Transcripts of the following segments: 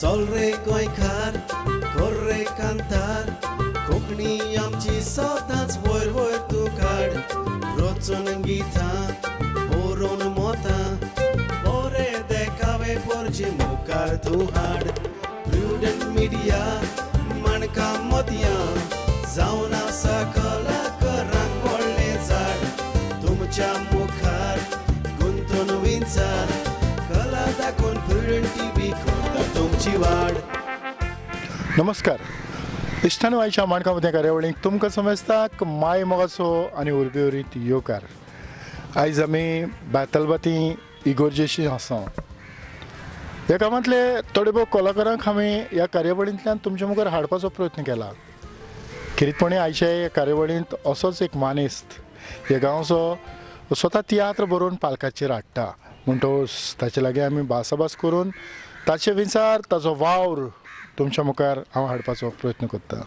चल रे गोंयकार कर रे कांतार कोंकणी आमची सदांच वयर वयर तूं काड रचून गितां बरोवन मोतां बरे देखावे पोरजे मुखार तूं हाड प्रुडंट मिडिया माणका मोतयां जावन आसा कलाकारांक व्हडलें झाड तुमच्या मुखार गुंतून विंचार कला दाखोवन प्रुडंट टीव्ही करता तुमची वाड. नमस्कार इश्टान आयच्या माणका मोतयां कार्यावळीक तुमकां समजता माय मोगाचो आनी उर्बे उरीत येवकार. आयज आमी बेतलबाती इगोर्जेशी आसा. ह्या गांवांतले थोडे भोव कलाकारांक आमी ह्या कार्यावळींतल्यान तुमच्या मुखार हाडपाचो प्रयत्न केला. खेरीतपणी आयच्या ह्या कार्यावळींत असोच एक मानेस्त ह्या गांवचो स्वता तियात्र बरोवन पालकाचेर हाडटा म्हणटकच ताचे लागीं आमी भासाभास करून ताचे विचार ताचो वावर तुमच्या मुखार हांव हाडपाचो प्रयत्न करता.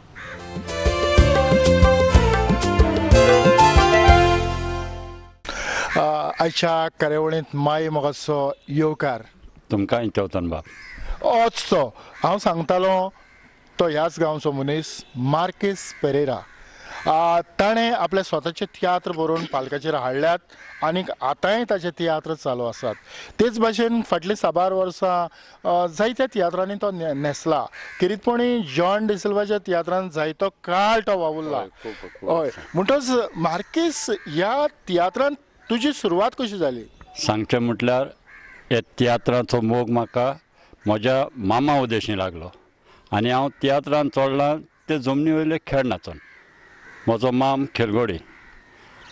आयच्या कार्यावळींत माय मोगाचो येवकार तुमकां चवथन बाब. ओच तो हांव सांगतालो तो ह्याच गांवचो मनीस मार्केस पेरेरा. ताणें आपले स्वताचे तियात्र बरोवन पालकाचेर हाडल्यात आनीक आतांय ताचे तियात्र चालू आसात. तेच भाशेन फाटलीं साबार वर्सां जायत्या तियात्रांनी तो न्हेसला. खेरीतपणी जॉन डिसिल्वाच्या तियात्रान जायतो काळ तो वावुरला. हय, म्हणटच मार्केस ह्या तियात्रान तुजी सुरवात कशी जाली? सांगचें म्हटल्यार ह्या तियात्राचो मोग म्हाका म्हज्या मामा उदेशी लागलो आनी हांव तियात्रान चडलां ते जमनी वयले खेळ नाचून. म्हजो माम खेलगोडी,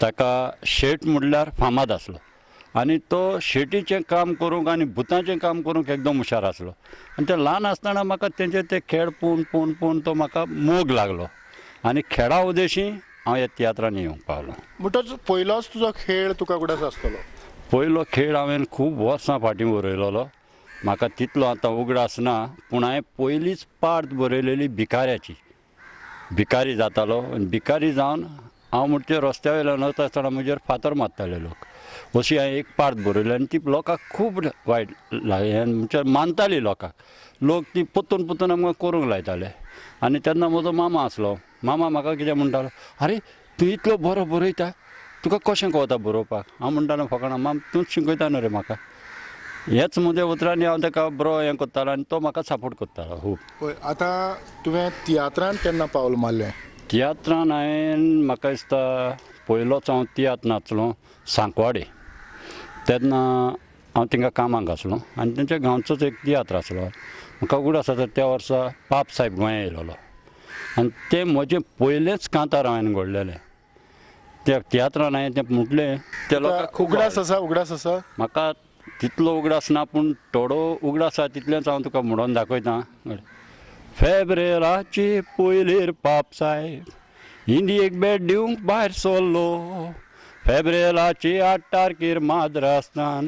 ताका शेट म्हणल्यार फामाद आसलो आनी तो शेटीचें काम करूंक आनी भुतांचें काम करूंक एकदम हुशार आसलो. आनी ते ल्हान आसतना म्हाका तेंचे ते खेळ पळोवन पळोवन पळोवन तो म्हाका मोग लागलो आनी खेळा उदेशी हांव ह्या तियात्रांनी येवंक पावलो. म्हणटच पयलोच तुजो खेळ तुका उगडास आसतलो? पयलो खेळ हांवें खूब वर्सां फाटीं बरयलेलो, म्हाका तितलो आतां उगडास ना, पूण हांवें पयलीच पार्ट बरयलेली भिकाऱ्याची. भिकारी जातालो आनी भिकारी जावन हांव म्हणचे रस्त्या वयल्यान वता आसतना म्हजेर फातर मारताले लोक. अशी हांवें एक पार्ट बरयली आनी ती लोकांक खूब वायट म्हणजे मानताली लोकांक. लोक ती परतून परतून आमकां करूंक लायताले. आनी तेन्ना म्हजो मामा आसलो. मामा म्हाका कितें म्हणटालो, आरे तूं इतलो बरो बरयता, तुका कशें कळटा बरोवपाक? हांव म्हणटालो फकाणां, माम तूंच शिकयता न्हू रे म्हाका. हेच म्हज्या उतरांनी हांव ताका बरो हें करतालो आनी तो म्हाका सपोर्ट करतालो खूब. हय, आतां तुवें तियात्रान केन्ना पावल मारलें? तियात्रान हांवें म्हाका दिसता पयलोच हांव तियात्र नाचलो सांकवाडे. तेन्ना हांव थिंगा कामाक आसलो आनी तेंच्या गांवचोच एक तियात्र आसलो. म्हाका उगडास आसा त्या वर्सा पाप साहेब गोंया येयलेलो आनी तें म्हजें पयलेंच कांतार हांवें घडलेलें त्या तियात्रान. हांवें तें म्हटलें ते लोकांक खूब उगडास आसा. उगडास आसा म्हाका तितलो उगडास ना, पूण थोडो उगडास आसा तितलेंच हांव तुका म्हणून दाखयता. फेब्रेराची पयलीर पाप साहेब इंडियेक भेट दिवंक भायर सरलो, फेब्रेराची 8 तारखेर माद्रास्तान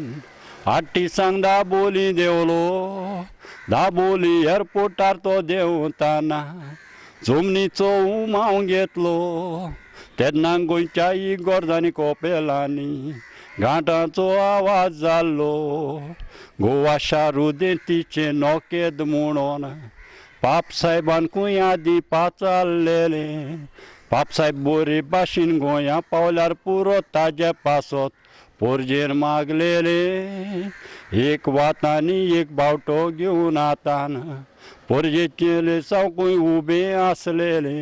8 दिसांक दाबोली देंवलो, दाबोली एअरपोर्टार तो देंवताना जमनीचो उमाव घेतलो, तेन्ना गोंयच्या इगोर्जांनी कोपेलांनी घांटाचो आवाज जाल्लो, गोवा शारुदेंतीचें नोकेद म्हणून पाप साहेबान कुंयादी पाचारलेलें, पाप साहेब बोरे भाशेन गोंया पावल्यार पुरो ताजे पासत पोरजेर मागलेले, एक वात आनी एक बावटो घेवन आतान पोरजेचेले सावकूय उबें आसलेले,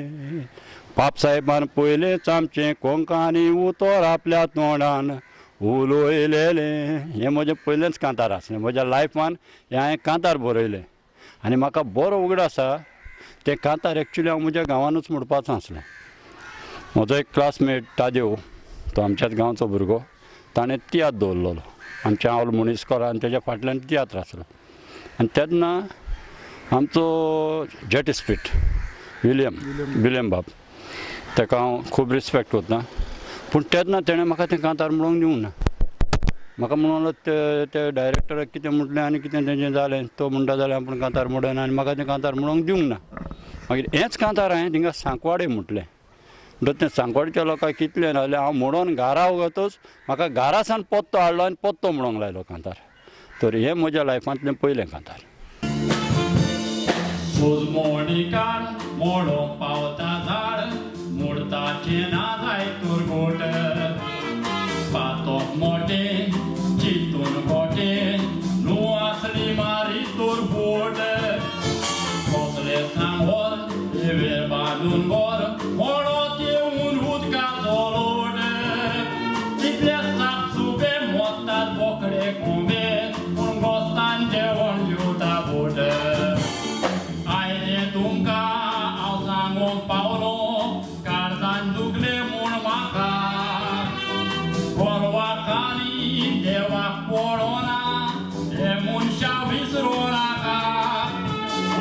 पाप साहेबान पयलेंच आमचें कोंकणी उतर आपल्या तोंडान उलयलेलें. हें म्हजें पयलेंच कांतार आसलें म्हज्या लायफान. हें हांवें कांतार बरयलें आनी म्हाका बरो उगडास आसा तें कांतार एक्चुली हांव म्हज्या गांवानूच म्हणपाचो आसलो. म्हजो एक क्लासमेट तादेव, तो आमच्याच गांवचो भुरगो, ताणें तियात्र दवरलेलो आमच्या आवल मुनिस्कोला आनी तेज्या फाटल्यान तियात्र आसलो. आनी तेन्ना आमचो जेट स्पीट विलियम बाब, ताका हांव खूब रिस्पेक्ट करता, पूण तेन्ना तेणें म्हाका तें कांतार म्हणूंक दिवंक ना. म्हाका म्हणून ते डायरेक्टराक कितें म्हटलें आनी कितें तेंचें जालें, तो म्हणटा जाल्यार आपूण कांतार म्हणना आनी म्हाका तें कांतार म्हणूंक दिवंक ना. मागीर हेंच कांतार हांवें थिंगा सांकवाडे म्हटलें. म्हणटच तें सांकवाडच्या लोकांक कितलें जालें, हांव म्हणून घरा वतच म्हाका घरा सावन पत्तो हाडलो आनी पत्तो म्हणूंक लायलो कांतार. तर हें म्हज्या लायफांतलें पयलें कांतार. उजमोणी काड मोडोंक पावता झाड मुर्ताचें ना जाय तुरगोट पातोक मोटें चिंतून गोटें न्हू आसली मारी तुरबोट कसले सांगोर देवेर बांदून गोर मोडोत येवन उदकाचो लोट तितले साप सुबे मोत्तात बोकडे कोंबे पूण गोस्तान जेवण जेवता बोट आयलें तुमकां हांव सांगूंक पावलो काळजान दुखलें म्हूण म्हाका गोरवाखानी देवाक पळोना हे मनशां विसरूं नाका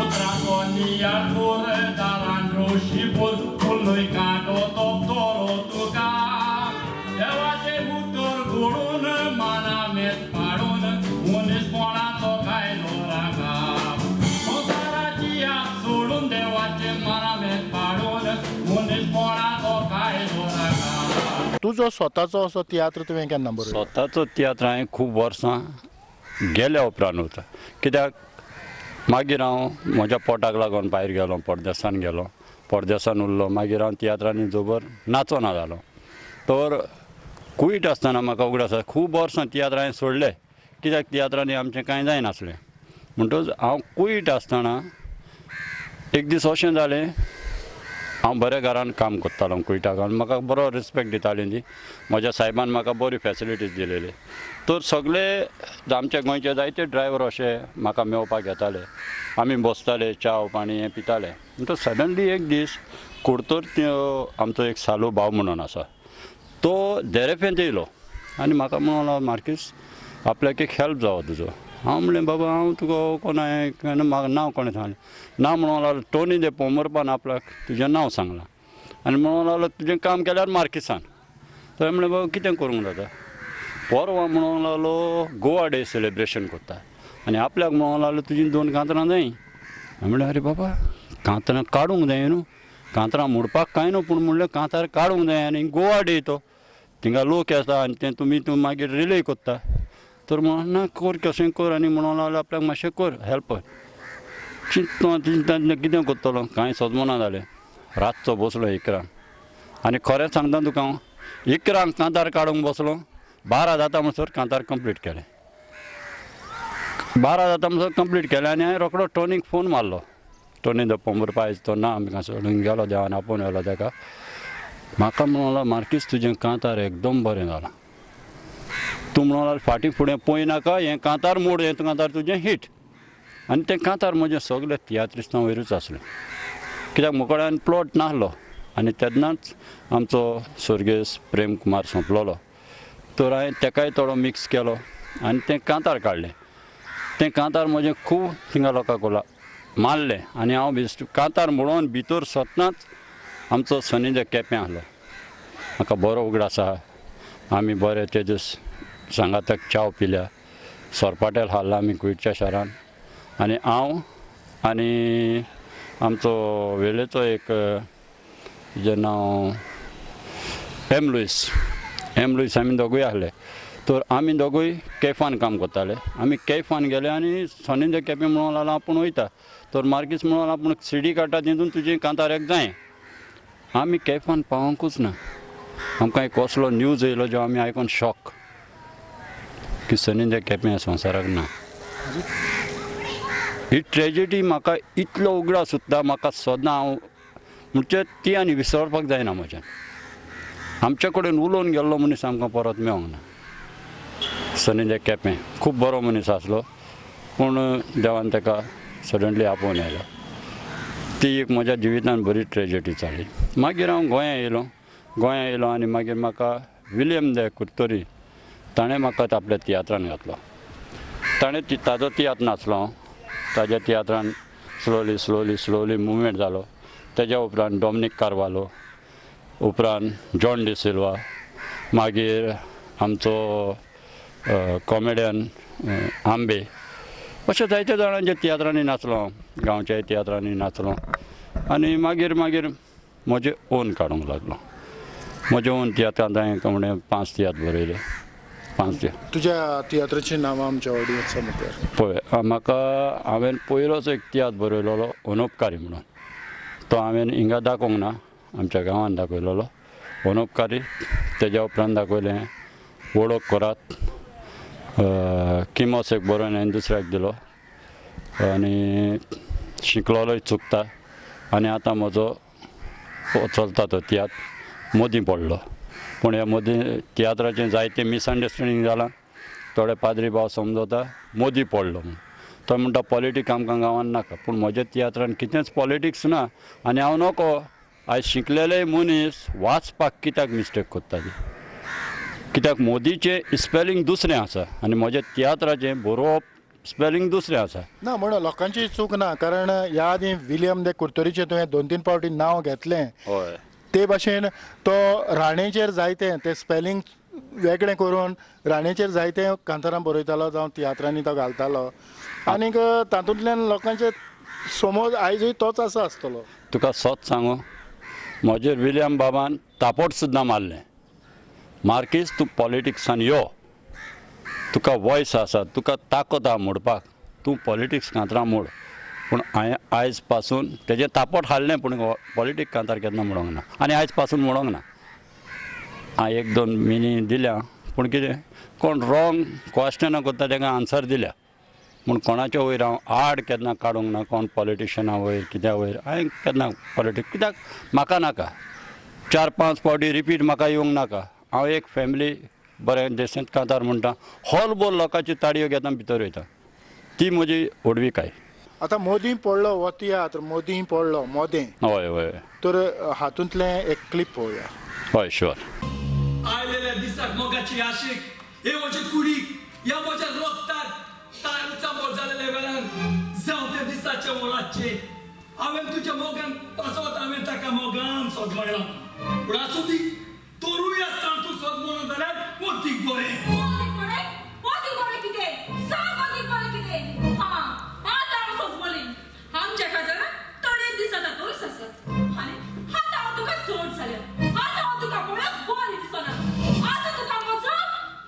उतराचो नियाळ कर दारान रोशी फुल्लूय कांटो तोपतलो तुका देवाचें उतर घडून मानामेत पाडून मनीसपणाचो कायदो राखा संवसाराची आस सोडून देवाचें मानामेत पाडून मनीसपणाचो कायदो राखा. तुजो स्वताचो असो तियात्र तुवें केन्ना बरयलो? स्वताचो तियात्र हांवें खूब वर्सां गेल्या उपरांत वता कित्याक मागीर हांव म्हज्या पोटाक लागून भायर गेलो, परदेसान गेलो, परदेसान उरलो. मागीर हांव तियात्रांनी जबर नाचोना जालो. तर कुयट आसतना म्हाका उगडास आसा खूब वर्सां तियात्र हांवें सोडले कित्याक तियात्रांनी आमचें कांय जायनासलें. म्हणटकच हांव कुयट आसतना एक दीस अशें जालें, हांव बऱ्या घरान काम करतालो कुयटाक आनी म्हाका बरो रिस्पेक्ट दिताली ती. म्हज्या सायबान म्हाका बरी फेसिलिटीज दिलेली. तर सगळे आमच्या गोंयचे जायते ड्रायवर अशे म्हाका मेळपाक येताले, आमी बसताले, च्याव पाणी हें पिताले. म्हणटकच सडनली एक दीस कुडतर आमचो एक सालू भाव म्हणून आसा तो देरेपेंत येयलो आनी म्हाका म्हणूंक लागलो, मार्कीस आपल्याक एक हेल्प जावो तुजो. हांव म्हणलें बाबा हांव तुका कोण हांवें म्हाका नांव कोणें सांगलें ना म्हणूंक लागलो टोनी दे पोमरपान आपल्याक तुजें नांव सांगलां आनी म्हणूंक लागलो तुजें काम केल्यार मार्कीसान. तर म्हणलें बाबा कितें करूंक जाता. परवां म्हणूंक लागलो गोवा डे सेलिब्रेशन करता आनी आपल्याक म्हणूंक लागलो तुजीं 2 कांतरां जाय. हांवें म्हणलें अरे बाबा कांतरां काडूंक जाय न्हू, कांतरां मोडपाक कांय न्हू पूण म्हणलें कांतार काडूंक जाय आनी गोवा डे तो थिंगा लोक येता आनी तें तुमी तूं मागीर रिले करता. तर म्हणून ना कर कशें कर आनी म्हणूंक लागलो आपल्याक मातशें कर हेल्प. चिंतता चिंतता कितें करतलो कांय सजमना जालें. रातचो बसलो 11 आनी खरें सांगता तुका हांव 11 कांतार काडूंक बसलो, 12 जाता म्हणसर कांतार कंप्लीट केलें. 12 जाता म्हणसर कंप्लीट केलें आनी हांवें रोकडो टोनीक फोन मारलो. टोनी the पोंबुर्पा आयज तो ना आमकां सोडून गेलो, देवान आपोवन व्हेलो ताका. म्हाका म्हणूंक लागलो मार्कीस तुजें कांतार एकदम बरें जालां, तूं म्हणूंक लागलो फाटीं फुडें पळय नाका, हें कांतार मोड, हें कांतार तुजें हीट. आनी तें कांतार म्हजें सगळें तियात्रिस्तां वयरूच आसलें कित्याक म्हजे प्लॉट नासलो आनी तेन्नाच आमचो स्वर्गेस्त प्रेम कुमार सोंपलेलो. तर हांवें तेकाय थोडो मिक्स केलो आनी तें कांतार काडलें. तें कांतार म्हजें खूब थिंगा लोकांक मारलें आनी हांव कांतार म्हणून भितर सरतनाच आमचो सनी दे केपें आसलो. म्हाका बरो उगडास आसा आमी बरे ते दीस सांगाताक च्याव पिल्या, सोरपाटेल हाडला आमी कुयटच्या शारान आनी हांव आनी आमचो वेळेचो एक जें नांव एम लुईस, एम लुईस आमी दोगूय आसले. तर आमी दोगूय कॅफान काम करताले. आमी कॅफान गेले आनी सनी दे केपें म्हणूंक लागलो आपूण वयता. तर मार्कीस म्हणूंक लागलो आपूण सिडी काडटा तितून तुजें कांतार एक जाय. आमी कॅफान पावोंकूच ना. आमकां एक कसलो न्यूज येयलो जो आमी आयकोन शॉक की सनी दे केपें संवसाराक ना. ही ट्रेजिडी म्हाका इतलो उगडास उरता, म्हाका सदां हांव म्हणजे ती आनी विसरपाक जायना म्हज्यान. आमचे कडेन उलोवन गेल्लो मनीस आमकां परत मेळोंक ना. सनी दे केपें खूब बरो मनीस आसलो पूण देवान ताका सडनली आपोवन आयलो. ती एक म्हज्या जिवितान बरी ट्रेजिडी जाली. मागीर हांव गोंया येयलो, गोंया येयलो आनी मागीर म्हाका विलियम दे कुर्तोरी ताणें म्हाका आपल्या तियात्रान घातलो. ताणें ताजो तियात्र नाचलो हांव. ताज्या तियात्रान स्लोली स्लोली स्लोली मुवमेंट जालो. तेज्या उपरांत डॉमनीक कार्वालो, उपरांत जॉन डिसिल्वा, मागीर आमचो कॉमेडियन आंबे, अशे जायते जाणांच्या तियात्रांनी नाचलो हांव, गांवच्या तियात्रांनी नाचलो आनी मागीर मागीर म्हजें ओन काडूंक लागलो. म्हजें ओन तियात्रांत हांवें म्हणलें 5 तियात्र बरयले. 5 तुज्या तियात्राची नांवां आमच्या ऑडियन्सा मुखार पळय. म्हाका हांवें पयलोच एक तियात्र बरयलेलो अनोपकारी म्हणून, तो हांवें हिंगा दाखोवंक ना, आमच्या गांवांत दाखयलेलो अनोपकारी. तेज्या उपरांत दाखयलें वळख करात, किमोस एक बरोवन हांवें दुसऱ्याक दिलो आनी शिकलोलोय चुकता. आनी आतां म्हजो चलता तो तियात्र मोदीं पडलो. पूण ह्या मोदी तियात्राचें जायतें मिसअंडरस्टँडींग जालां. थोडे पाद्री भाव समजता मोदी पडलो म्हूण, तो म्हणटा पॉलिटिक्स आमकां गांवांत नाका. पूण म्हज्या तियात्रान कितेंच पॉलिटिक्स ना आनी हांव नको आयज शिकलेले मनीस वाचपाक कित्याक मिस्टेक करता ती, कित्याक मोदीचें स्पेलिंग दुसरें आसा आनी म्हज्या तियात्राचें बरोवप स्पेलिंग दुसरें आसा. ना म्हणून लोकांची चूक ना, कारण ह्या आदीं विलियम दे कुर्तोरीचें तुवें 2-3 फावटी नांव घेतलें. हय, ते भाशेन तो राणेचेर जायते ते स्पेलिंग वेगळें करून राणेचेर जायते कांतारां बरयतालो जावं तियात्रांनी तो घालतालो आनीक तातूंतल्यान लोकांचे समज आयजूय तोच आसा आसतलो. तुका सत सांगू, म्हजेर विलियम बाबान तापोट सुद्दां मारलें, मार्कीस तूं पॉलिटिक्सान यो, तुका वॉयस आसा, तुका ताकद आहा मोडपाक, तूं पॉलिटिक्स कांतरां मोड. पूण हांवें आयज पासून तेजें तापोट हाडलें, पूण पॉलिटिक्स कांतार केन्ना म्हणूंक ना आनी आयज पासून म्हणूंक ना. हांवें 1-2 मिनी दिल्या, पूण कितें कोण रॉंग क्वेश्चनां करता तांकां आन्सर दिल्या, पूण कोणाच्या वयर हांव आड केन्ना काडूंक ना, कोण पॉलिटिशना वयर कित्या वयर हांवें केन्ना पॉलिटिक्स कित्याक म्हाका नाका. 4-5 फावटी रिपीट म्हाका येवंक नाका. हांव एक फॅमिली बरें देशांत कांतार म्हणटा, हॉल बोल लोकांच्यो ताळयो घेता भितर वयता, ती म्हजी व्हडविकाय. आतां मोदी पडलो हो तियात्र, मोदी पडलो मोदें. हय हय, तर हातूंतलें एक क्लिप पळोवया. हय शुअर. आयलेल्या दिसाक मोगाची आशीक हे म्हजे कुडीक ह्या म्हज्या रोगतात तांचा मोग जालेल्या वेळान जावं त्या दिसाचे मोलाचे हांवें तुज्या मोगान पासत हांवें ताका मोगान सोद म्हणला. पूण आसूं दी, तोरूय आसतना तूं सोद म्हणून जाल्यार मोतीक बरें. मोतीक बरें कितें सांग, मोतीक बरें कितें? हां आतां हांव सोजमली आमच्या काजाराक थोडे दीस आतां तोच आसत आनी आतां हांव तुका चड जाल्या, आतां हांव तुका पळोवप बरें दिसना, आतां तुका म्हजो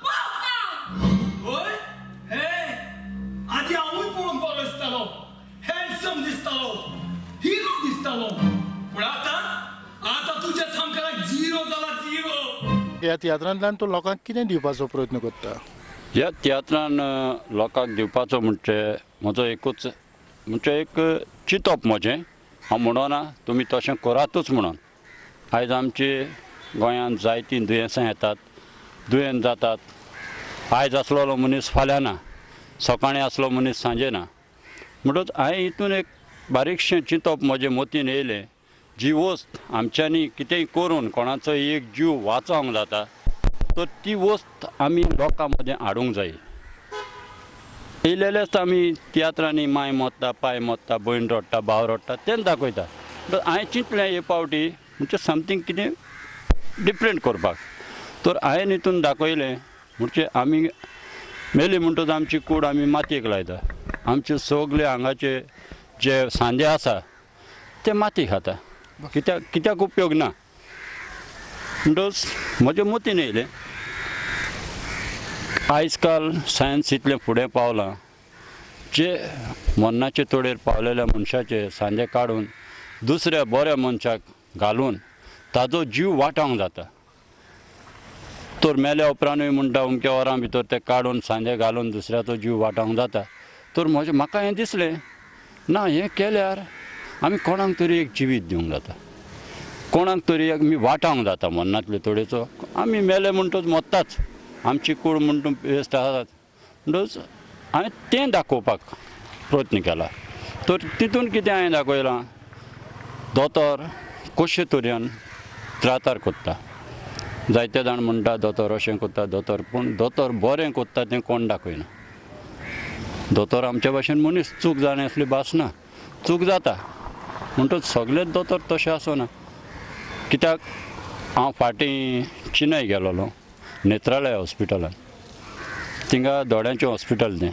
मोग ना. हय हे आदी हांवूय पळोवंक बरो दिसतालो, हँडसम दिसतालो, हिरो दिसतालो, पूण आतां आतां तुज्या सामकाराक झिरो जाला, झिरो. ह्या तियात्रांतल्यान तूं लोकांक कितें दिवपाचो प्रयत्न करता? ह्या तियात्रान लोकांक दिवपाचो म्हणजे म्हजो एकूच म्हणजे एक चिंतप म्हजें, हांव म्हणना तुमी तशें करातूच म्हणून. आयज आमचे गोंयांत जायतीं दुयेंसां येतात, दुयेंत जातात. आयज आसलेलो मनीस फाल्यां ना, सकाळीं आसलो मनीस सांजे ना. म्हणटच हांवें हितून एक बारीकशें चिंतप म्हजें मतीन येयलें, जी वस्त आमच्यांनी कितेंय करून कोणाचो एक जीव वाचोवंक जाता तर ती वस्त आमी लोकां मदें हाडूंक जाय. येयलेलेच आमी तियात्रांनी माय मोत्ता, पाय मोत्ता, भयण रडटा, भाव रडटा, तेंच दाखयता. तर हांवें चिंतलें हे फावटी म्हणजे समथींग कितें डिफरंट करपाक. तर हांवें हितून दाखयलें म्हणजे आमी मेली म्हणटच आमची कूड आमी मातयेक लायता, आमचे सगळे हांगाचे जे सांदे आसा ते माती खाता, कित्याक कित्याक उपयोग ना. म्हणटच म्हज्या मतीन येयलें आयज काल सायन्स इतलें फुडें पावलां, जे मरणाचे तोडेर पावलेल्या मनशाचे सांदे काडून दुसऱ्या बऱ्या मनशाक घालून ताजो जीव वाटावंक जाता. तर मेल्या उपरांतूय म्हणटा अमक्या वरां भितर ते काडून सांदे घालून दुसऱ्याचो जीव वाटावंक जाता. तर म्हजें म्हाका हें दिसलें ना, हें केल्यार आमी कोणाक तरी एक जिवीत दिवंक जाता, कोणाक तरी एक आमी वाटावंक जाता मरणांतले तोडेचो. आमी मेले म्हणटच मरताच, आमची कूड म्हणटा वेस्ट आसात. म्हणटच हांवें तें दाखोवपाक प्रयत्न केला. तर तितून कितें हांवें दाखयलां, दोतोर कशे तरेन त्रातार करता. जायते जाण म्हणटा दोतोर अशें करता दोतोर, पूण दोतोर बरें करता तें कोण दाखयना. दोतोर आमच्या भाशेन मनीस, चूक जाणा असली भास ना, चूक जाता. म्हणटच सगळेच दोतोर तशें आसना. कित्याक हांव फाटीं चिन्नय गेलोलो नेत्रालय हॉस्पिटलान, थिंगा दोळ्यांचें हॉस्पिटल तें,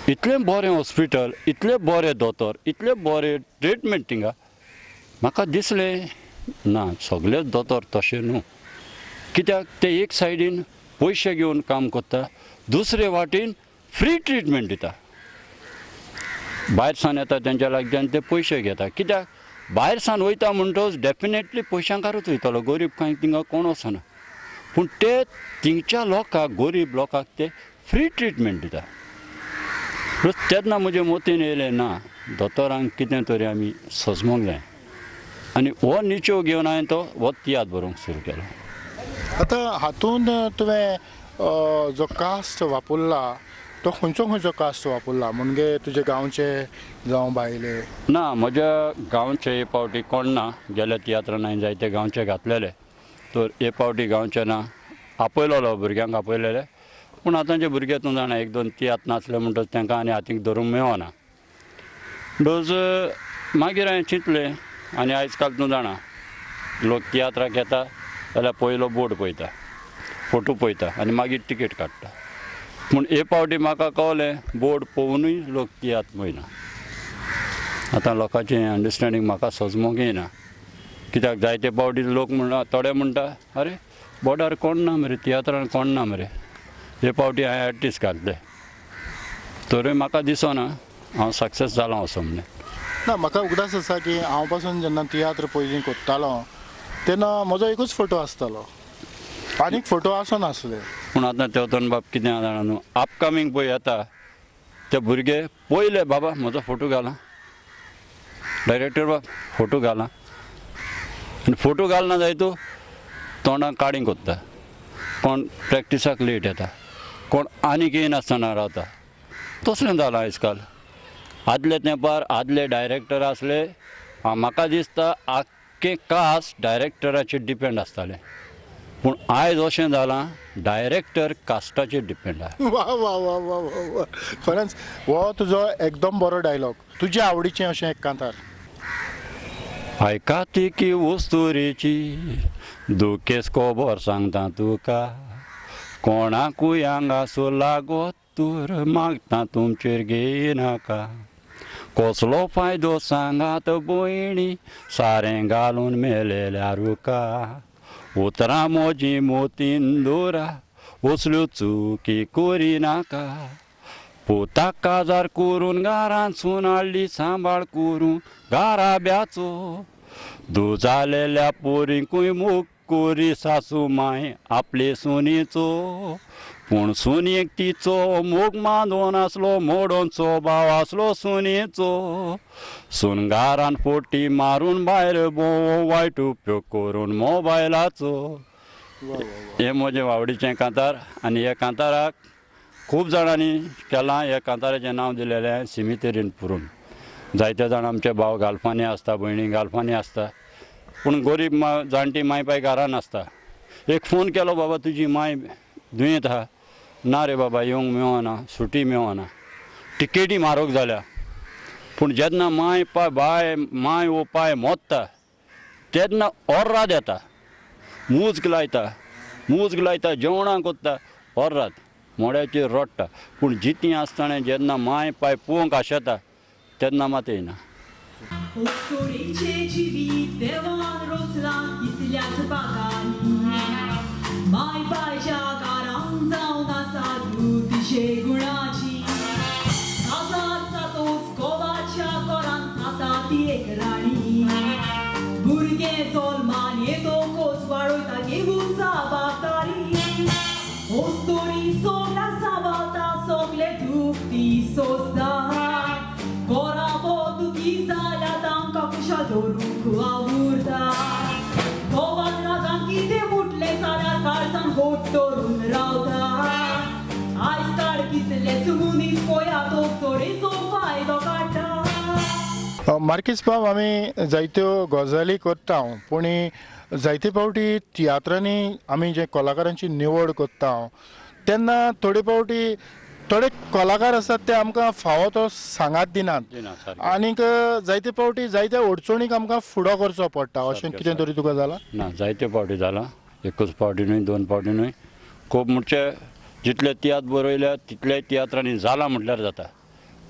इतलें बरें हॉस्पिटल, इतलें बरें दोतोर, इतलें बरें ट्रिटमेंट थिंगा. म्हाका दिसलें ना सगळेच दोतोर तशें न्हू, कित्याक ते एक सायडीन पयशे घेवन काम करता, दुसरे वाटेन फ्री ट्रिटमेंट दिता. भायर सान येता तेंच्या लागच्यान ते पयशे घेता. कित्याक भायर सान वयता म्हणटकच डेफिनेटली पयशांकारूच वयतलो, गरीब कांय थिंगा कोण वचना. पूण ते थिंगच्या लोकांक, गरीब लोकांक ते फ्री ट्रिटमेंट दिता. तेन्ना म्हजे मतीन येयलें ना दोतोरांक कितें तरी आमी सजमोंक जाय आनी हो निचो घेवन हांवें तो हो तियात्र बरोवंक सुरू केलो. आतां हातूंत तुवें जो कास्ट वापरला तो खंयचो खंयचो कास्ट वापरला, म्हणजे तुजे गांवचे जावं भायले? ना, म्हज्या गांवचे हे फावटी कोण ना. गेल्या तियात्रान हांवें जायते गांवचे घातलेले, तर हे फावटी गांवचे ना. आपयलेलो भुरग्यांक आपयलेले, पूण आतांचे भुरगे तूं जाणा एक दोन तियात्र नाचले म्हणटच तांकां आनी हातीक धरूंक मेळना. डोज मागीर हांवें चिंतलें, आनी आयज काल तूं जाणा लोक तियात्राक येता जाल्यार पयलो बोर्ड पळयता, फोटो पळयता आनी मागीर तिकेट काडटा. पूण हे फावटी म्हाका कळ्ळें बोर्ड पळोवनूय लोक तियात्र पळयना. आतां लोकांचें अंडरस्टँडींग म्हाका सजमोंक येना. कित्याक जायते फावटी लोक म्हणटा, थोडे म्हणटा अरे बोर्डार कोण ना मरे, तियात्रान कोण ना मरे. हे फावटी हांवें आर्टिस्ट घातले तरूय म्हाका दिसना हांव सक्सेस जालां असो म्हणून. ना, म्हाका उगडास आसा की हांव पासून जेन्ना तियात्र पयलीं करतालो तेन्ना म्हजो एकूच फोटो आसतालो, आनीक फोटो आसनासले. पूण आतां तेवतन बाब कितें जाणा न्हू, अपकमींग पळय येता ते भुरगे पयले बाबा म्हजो फोटो घाला, डायरेक्टर बाब फोटो घाला, आनी फोटो घालना जाय तूं तोंडाक काडींग कोत्ता, कोण प्रॅक्टिसाक लेट येता, कोण आनीक येयनासतना रावता. तसलें जालां आयज काल. आदले तेंपार आदले डायरेक्टर आसले, म्हाका दिसता आख्खें कास्ट डायरेक्टराचेर डिपेंड आसतालें. पूण आयज अशें जालां डायरेक्टर कास्टाचेर डिपेंड आसा. वा वा वा वा वा, खरेंच हो तुजो एकदम बरो डायलॉग. तुजे आवडीचें अशें एक कांतार. आयकाती की वस्तुरेची दुखेस खबर सांगता तुका, कोणाकूय हांगासो लागत तूर मागता तुमचेर घेयनाका, कसलो फायदो सांगात भयणी सारें घालून मेलेल्या रुका, उतरां म्हजी मोतीन दोरा असल्यो चुकी करिनाका, पुताक काजार करून घरांतसून हाडली सांबाळ करून घराब्याचो, दुजालेल्या पोरींकूय मोग करी सासू माय आपले सुनेचो, पूण सुनेक तिचो मोग मानून आसलो मोडोनचो भाव आसलो सुनेचो, सून घरान फोटी मारून भायर भोंव वायट उपयोग करून मोबायलाचो. हें म्हजें आवडीचें कांतार आनी ह्या कांताराक खूब जाणांनी केलां. ह्या कांताराचें नांव दिलेलें सिमितेरीन पुरून. जायते जाण आमचे भाव गाल्फांनी आसता, भयणी गाल्फांनी आसता, पूण गरीब जाणटी माय पाय घरान आसता. एक फोन केलो, बाबा तुजी माय दुयेंत आहा. ना रे बाबा, येवंक मेळना, सुटी मेळना, टिकेटी म्हारग जाल्या. पूण जेन्ना माय पाय बाय माय वो पाय मोत्ता तेन्ना ओर्राद येता, मुज्ग लायता, मुज्ग लायता, जेवणां कोत्ता, ओर्राद मोड्याचेर रडटा. पूण जितीं आसतना जेन्ना माय पाय पळोवंक आशेता तेन्ना मात येयना. मार्कीस बाब, आमी जायत्यो गजाली करता, पूण जायते फावटी तियात्रांनी आमी जे कलाकारांची निवड करता तेन्ना थोडे फावटी थोडे कलाकार आसात ते आमकां फावो तो सांगात दिनात आनीक जायते फावटी जायत्या अडचणीक आमकां फुडो करचो पडटा. अशें कितें तरी तुका जालां? ना, जायते फावटी जालां, एकूच फावटी न्हय, दोन फावटी न्हय, खूब. म्हणजे जितले तियात्र बरयल्या तितल्याय तियात्रांनी जालां म्हटल्यार जाता.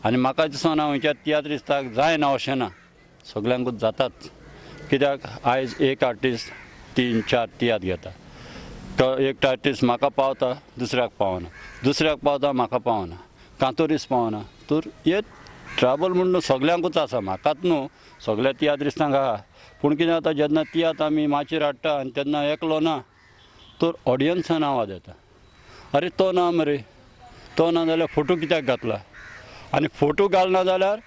आनी म्हाका दिसना खंयच्या तियात्रिस्ताक जायना अशें ना, सगल्यांकूच जाताच. कित्याक आयज एक आर्टिस्ट 3-4 तियात्र घेता. एक आर्टिस्ट म्हाका पावता दुसऱ्याक पावना, दुसऱ्याक पावता म्हाका पावना, कांतोरीस पावना. तर हे ट्रबल म्हणून सगल्यांकूच आसा, म्हाकाच न्हू सगळ्या तियात्रिस्तांक आहा. पूण कितें जाता जेन्ना तियात्र आमी माचयेर हाडटा आनी तेन्ना एकलो ना तर ऑडियन्सान आवाज येता, अरे तो ना मरे, तो ना जाल्यार फोटो कित्याक घातला. आनी फोटो घालना जाल्यार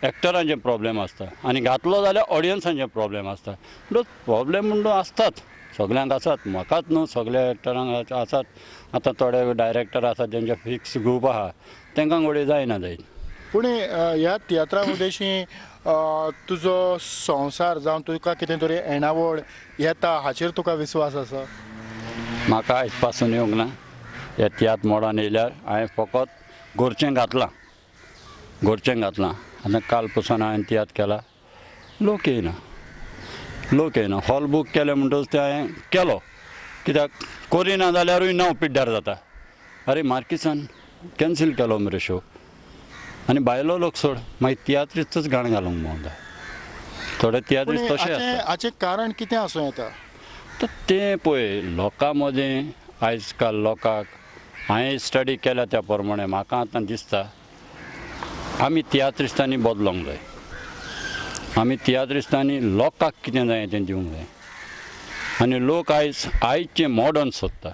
एक्टरांचे प्रॉब्लेम आसता आनी घातलो जाल्यार ऑडियन्सांचे प्रॉब्लेम आसता. म्हणटच प्रॉब्लेम म्हणून आसतात सगल्यांक आसात, म्हाकाच न्हू सगल्या एक्टरांक आसात. आतां थोडे डायरेक्टर आसात तेंचे फिक्स ग्रूप आहा तांकां घडये जायना जायत. पूण ह्या तियात्रा उद्देशी तुजो संवसार जावं तुका कितें तरी येणावळ येता हाचेर तुका विस्वास आसा? म्हाका आयज पासून येवंक ना ह्या तियात्र मोडान येयल्यार हांवें फकत गोरचें घातलां, गोरचें घातलां. आतां काल पसून हांवें तियात्र केला, लोक येयना, लोक येयना. हॉल बूक केलें म्हणटकच तें हांवें केलो, कित्याक करिना जाल्यारूय नांव पिड्ड्यार जाता. अरे मार्किसान कॅन्सील केलो मरे शो. आनी भायलो लोक सोड मागीर तियात्रिस्तूच गाणें घालूंक भोंवता. थोडे तियात्रिस्त तशें आसता. हाचें कारण कितें आसूं येता? तर तें पळय लोकां मदीं आयज काल लोकांक हांवें स्टडी केल्या त्या प्रमाणे म्हाका आतां दिसता आमी तियात्रिस्तांनी बदलोंक जाय. आमी तियात्रिस्तांनी लोकांक कितें जाय तें दिवंक जाय. आनी लोक आयज आयचें मॉडर्न सोदता,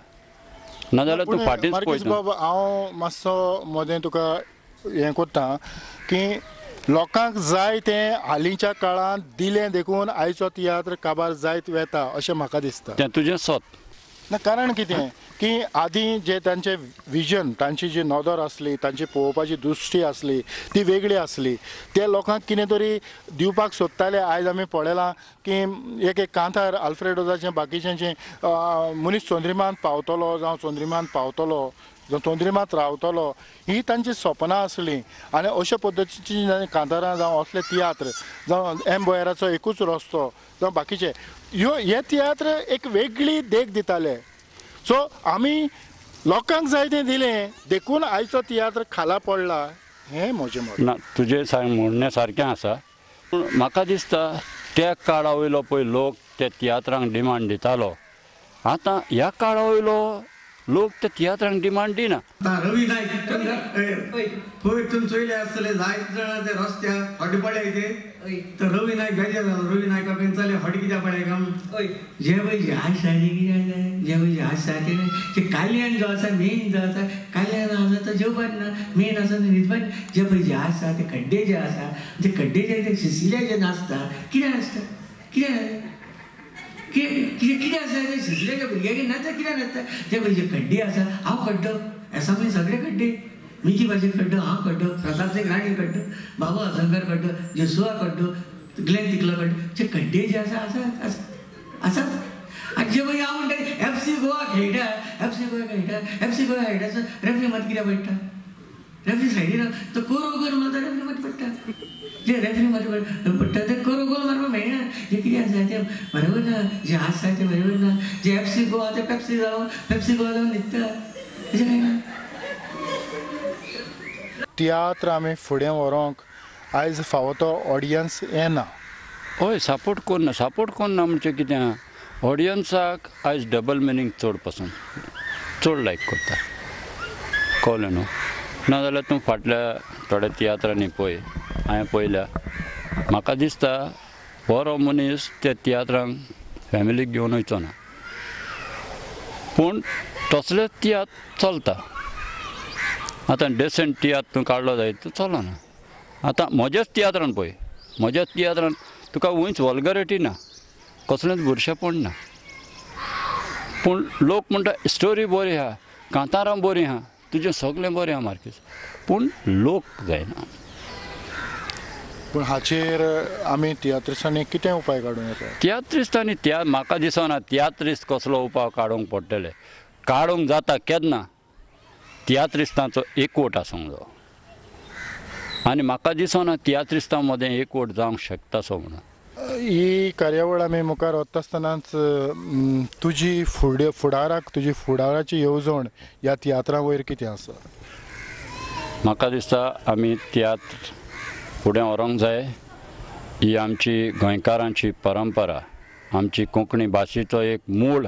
नाजाल्यार तूं फाटींच पळयता. बाब हांव मातसो मदें तुका हें करता की लोकांक जाय तें हालींच्या काळांत दिलें देखून आयचो तियात्र काबार जायत वेता अशें म्हाका दिसता. तें तुजें सत ना. कारण कितें की आदीं जे तांचे विजन, तांची जी नदर आसली, तांची पळोवपाची दृश्टी आसली ती वेगळी आसली. ते लोकांक कितें तरी दिवपाक सोदताले. आयज आमी पळयलां की एक एक कांतार आल्फ्रेडोजाचें बाकीच्यांचें मनीस चंद्रिमांत पावतलो जावं चंद्रिमांत पावतलो जावं चंद्रिमांत रावतलो ही तांची सपनां आसलीं. आनी अशा पद्दतीची कांतारां जावं असले तियात्र जावं एम बोयराचो एकूच रस्तो जावं बाकीचे ह्यो हे तियात्र एक वेगळी देख दिताले. सो आमी लोकांक जाय तें दिलें देखून आयचो तियात्र खाला पडला हें म्हजें मत. ना तुजें म्हणणें सारकें आसा, पूण म्हाका दिसता त्या काळा वयलो पळय लोक त्या तियात्रांक डिमांड दितालो, आतां ह्या काळा वयलो लोक त्या तियात्रांक डिमांड दिना. रवी नायक पयर तुमी चोयले आसतले जायते जाणां ते रस्त्यार हॉट पडले ते, तर रवी नायक बेजार जालो. रवी नायका पेन हॉट कित्याक पडले काय म्हणून जे पळय जे आशा कितें जे पळय जे आशा ते काल्याण जो आसा मेन जो आसा काल्याण आसा तो जेवपाक ना, मेन आसा न्हिदपाक. जे पळय जे आसा ते खड्डे जे आसा ते खड्डे जे ते शिशिले जे नाचता कितें नाचता कितें कितें कितें आसा ते शिशिल्याच्या भुरग्यांक नाचता कितें नाचता. ते पळय जे खड्डे आसा हांव खड्डो एसंब्ली सगळे खड्डे, मिकी भाशेन खड्डो, हांव खड्डो, प्रताप सिंग राणे खड्डो, बाबू हसंकर खड्डो, जेसुआ खड्डो, ग्लेन तिकलो खड्डो, जे खड्डे जे आसा आसा आसात. आनी जे पळय हांव म्हणटा एफ सी गोवा खेळटा, एफ सी गोवा खेळटा, एफ सी गोवा खेळटा रेफ्री मत कित्याक पडटा? रेफ्री सायडीन तो कोरो गोल मारता, रेफ्री मत पडटा. जे रेफ्री मत पडटा ते कोरो गोल मारपाक मेळना. जे कितें आसा तें बरोबर ना, जे आसा तें बरोबर ना. जे एफ सी गोवा ते पेप्सी जावन पेप्सी गोवा जावन न्हिदता अशें कांय ना. तियात्र आमी फुडें व्हरूंक आयज फावो तो ऑडियन्स येना. हय, सपोर्ट कोन्ना, सपोर्ट कोन्ना म्हणजे कितें आहा, ऑडियन्साक आयज डबल मिनींग चड पसंत, चड लायक करता, कळ्ळें न्हू. नाजाल्यार तूं फाटल्या थोड्या तियात्रांनी पळय, हांवें पळयल्या, म्हाका दिसता बरो मनीस त्या तियात्रांक फॅमिलीक घेवन वयचो ना, पूण तसलेच तियात्र चलता. आतां डेसंट तियात्र तूं काडलो जायत तो चलना. आतां म्हज्याच तियात्रान पळय, म्हज्याच तियात्रान तुका वंयच वल्गरिटी ना, कसलेंच बुरशेपण ना, पूण लोक म्हणटा स्टोरी बरी आहा, कांतारां बरीं आहा, तुजें सगळें बरें आहा मार्केस, पूण लोक जायना. पूण हाचेर आमी तियात्रिस्तांनी कितें उपाय काडूं येता? तियात्रिस्तांनी त्या म्हाका दिसना तियात्रिस्त कसलो उपाय काडूंक पडटले. काडूंक जाता केन्ना तियात्रिस्तांचो एकवट आसूंक जायो, आनी म्हाका दिसना तियात्रिस्तां मदें एकवट जावंक शकता सो म्हणून. ही कार्यावळ आमी मुखार वता आसतनाच तुजी फुडाराक तुजी फुडाराची येवजण ह्या तियात्रा वयर कितें आसा? म्हाका दिसता आमी तियात्र फुडें व्हरूंक जाय. ही आमची गोंयकारांची परंपरा, आमची कोंकणी भाशेचो एक मूळ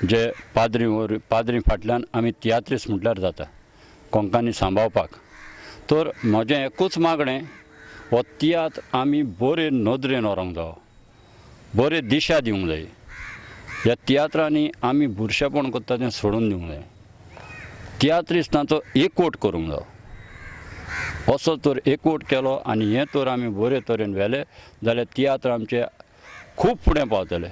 जे पाद्री पाद्री फाटल्यान आमी तियात्रीस म्हटल्यार जाता कोंकणी सांबाळपाक. तर म्हजें एकूच मागणें, हो तियात्र आमी बरे नदरेन व्हरूंक जावो, बरे दिशा दिवंक जाय. ह्या तियात्रांनी आमी बुरशेपण करता तें सोडून दिवंक जाय. तियात्रिस्तांचो एकवट करूंक जावो. असो तर एकवट केलो आनी हें तर आमी बरे तरेन व्हेलें जाल्यार तियात्र आमचे खूब फुडें पावतले.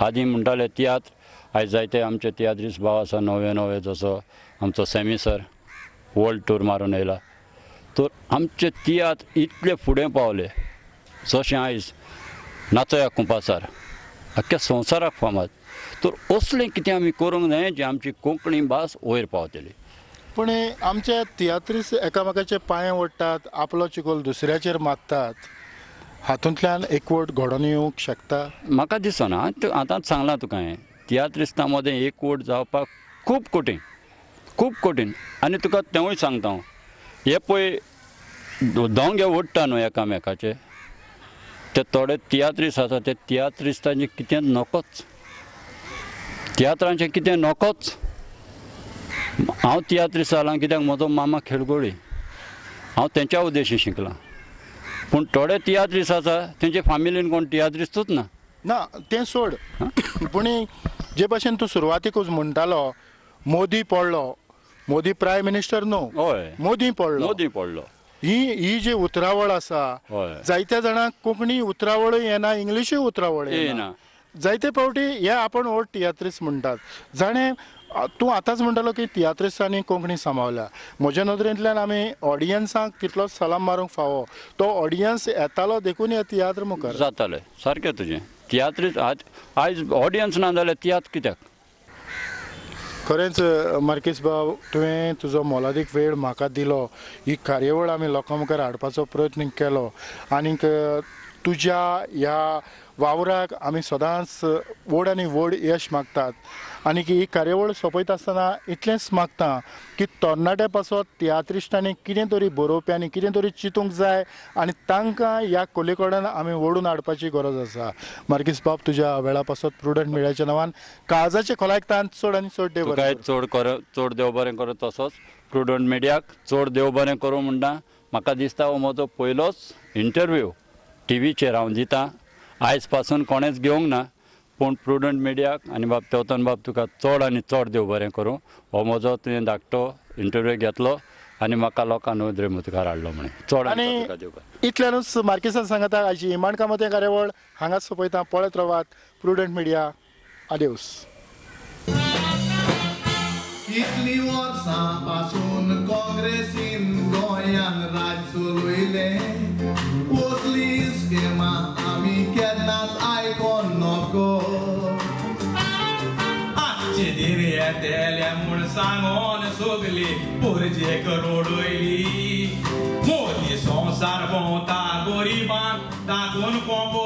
आदीं म्हणटाले तियात्र, आयज जायते आमचे तियात्रिस्त भाव आसा नवे नवे, जसो आमचो सॅमी सर वर्ल्ड टूर मारून येयला. तर आमचे तियात्र इतले फुडें पावले जशें आयज नाचोया कुंपासार आख्ख्या संवसाराक फामाद. तर असलें कितें आमी करूंक जाय जें आमची कोंकणी भास वयर पावतली. पूण आमचे तियात्रिस्त एकामेकाचे पांय ओडटात, आपलो चिकोल दुसऱ्याचेर मारतात, हातूंतल्यान एकवट घडोवन येवंक शकता? म्हाका दिसना. आतांच सांगलां तुका हांवें, तियात्रिस्तां मदें एकवट जावपाक खूब कठीण, खूब कठीण. आनी तुका तेंवूय सांगता हांव, हे पळय दोंगे ओडटा न्हू एकामेकाचे, ते थोडे तियात्रिस्त आसा ते तियात्रिस्तांचें कितें नकोच, तियात्रांचें कितें नकोच. हांव तियात्रिस्त जालां कित्याक म्हजो मामा खेळगोळी, हांव तेंच्या उद्देशी शिकलां. पूण थोडे तियात्रिस्त आसा तेंचे फामिलीन कोण तियात्रिस्तूच ना. ना तें सोड, पूण जे भाशेन तूं सुरवातीकूच म्हणटालो मोदी पडलो, मोदी प्रायम मिनिस्टर न्हू, हय मोदी पडलो, मोदी पडलो, ही ही जी उतरावळ आसा, जायत्या जाणांक कोंकणी उतरावळूय येना, इंग्लिशूय उतरावळ येना. जायते फावटी हे आपण व्हड तियात्रिस्त म्हणटात. जाणें तूं आतांच म्हणटालो की तियात्रिस्तांनी कोंकणी सांबाळल्या, म्हज्या नदरेंतल्यान आमी ऑडियन्सांक तितलोच सलाम मारूंक फावो. तो ऑडियन्स येतालो देखून हे तियात्र मुखार जाताले. सारकें तुजें, तियात्रिस्त आज आयज ऑडियन्स ना जाल्यार तियात्र कित्याक? खरेंच मार्कीस बाब, तुवें तुजो मोलादीक वेळ म्हाका दिलो, ही कार्यावळ आमी लोकां मुखार हाडपाचो प्रयत्न केलो आनीक तुज्या ह्या वावराक आमी सदांच व्हड आनी व्हड यश मागतात. आनी ही कार्यावळ सोंपयता आसतना इतलेंच मागता की तरणाट्या पासत तियात्रिस्टांनी कितें तरी बरोवप्यांनी कितें तरी चिंतूंक जाय आनी तांकां ह्या कले कडेन आमी ओडून हाडपाची गरज आसा. मार्कीस बाब, तुज्या वेळा पासत प्रुडंट मिडियाच्या नांवान काळजाचे खोलायक चड आनी चड देव बरें, चड कर, चड देव बरें करूं. तसोच प्रुडंट मिडियाक चड देव बरें करूं म्हणटा. म्हाका दिसता हो म्हजो पयलोच इंटरव्यू टीव्हीचेर हांव दितां, आयज पासून कोणेंच घेवंक ना, पूण प्रुडंट मिडियाक आनी बाब तेवतन बाब तुका चड आनी चड देव बरें करूं. हो म्हजो तुवें धाकटो इंटरव्यू घेतलो आनी म्हाका लोकां नदरे मुखार हाडलो म्हणून चड आनी इतल्यानूच मार्कीसान सांगता आयची इमाण कामत कार्यावळ हांगाच सोंपयता. पळयत रावात प्रुडंट मिडिया. आदेवस. इतली वर्सां पासून काँग्रेसीन गोंयान राज चलयलें, कसली स्किमा आमी केन्नाच आयकोन नको. आजचे दीन येतले म्हूण सांगोन सगली पुरजेक रोडयली, मोदी संवसार भोंवता गरिबांक तातून कोंबो